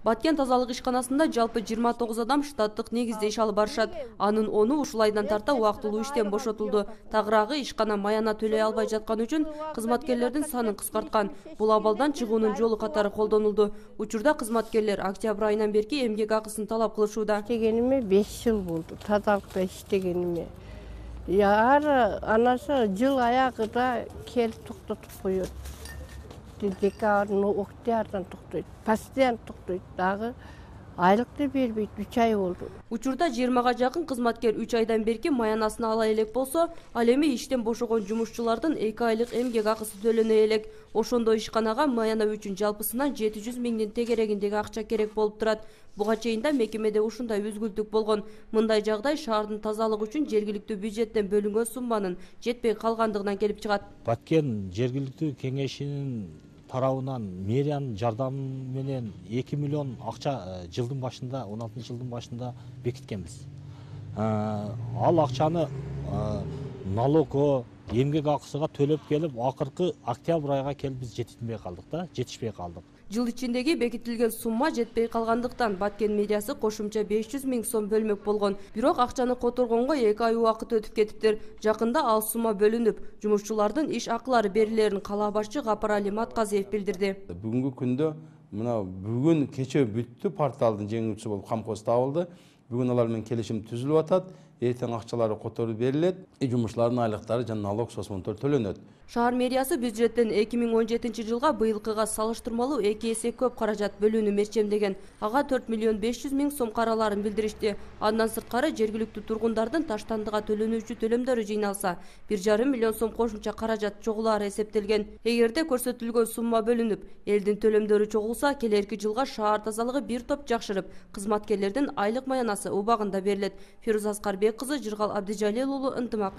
Баткен тазалык ишканасында жалпы 29 адам штаттык негизде иш алып барышат. Анын 10-у ушул айдан тарта убактылуу иштен бошотулду. Тагыраагы ишкана маяна төлөй албай жаткан үчүн кызматкерлердин санын кыскарткан. Бул абалдан чыгуунун жолу катары колдонулду. Учурда кызматкерлер октябрь айынан берки эмгек акысын талап кылышууда. Иштегениме 5 жыл болду. Тазалыкта иштегениме. Ар анасы жыл аягында келип токтотуп коет. Декабрдын октябрдан токтойт. Постоянно токтойт. Дагы айлыкты бербейт. 3 ай болду. Учурда 20-га жакын кызматкер 3 айдан берки маянасын ала элек болсо, ал эми иштен бошогон жумушчулардын 2 айлык эмгек акысы төлөнө элек. Ошондо ишканага маяна үчүн жалпысынан 700 миңдин тегерегиндеги акча керек болуп турат. Буга чейин да мекемеде ушундай үзгүлтүк болгон. Мындай жагдай шаардын тазалык үчүн жергиликтүү бюджеттен бөлүнгөн сумманын жетпей калгандыгынан келип чыгат. Баткен жергиликтүү кеңешинин тарабынан мэриянын жардамы менен 2 миллион акча жылдын башында, 16-жылдын башында бекиткенбиз. Ал акчаны налогго, эмгек акысыга төлөп келип, акыркы октябрь айга келип биз жетишпей калдык. Жыл ичиндеги бекитилген сумма жетпей калгандыктан Баткен мэриясы кошумча 500 миң сом бөлмөк болгон. Бирок акчаны которгонго 2 ай убакыт өтүп кетиптир. Жакында ал сумма бөлүнүп, жумушчулардын иш акылары берилерин кала башчы Гапар Али Матказиев билдирди. Бүгүнкү күндө бүгүн кече бүттү, порталдын жеңүүчүсү болуп камкоз табылды. Бүгүн алар менен келишим түзүлүп атат. Эртең акчалары которуп берилет. Жумушчулардын айлыктары жана налог сосмонтор төлөнөт. Шаар мэриясы бюджеттен 2017 жылга быйылкыга салыштырмалуу 2 эсе көп каражат бөлүүнү мерчемдеген. Ага 4 миллион 500 миң сом караларын билдиришти. Андан сырткары жергиликтүү тургундардын таштандыга төлөнүүчү төлөмдөрү жыйналса, 1,5 миллион сом кошумча каражат чогулаары эсептелген. Эгерде көрсөтүлгөн сумма бөлүнүп, элдин төлөмдөрү чогулса, келерки жылга шаар тазалыгы бир топ жакшырып, кызматкерлердин айлык маянасы убагында берилет. Фируза Аскарбек кызы, Жыргал Абдижалил уулу, Ынтымак.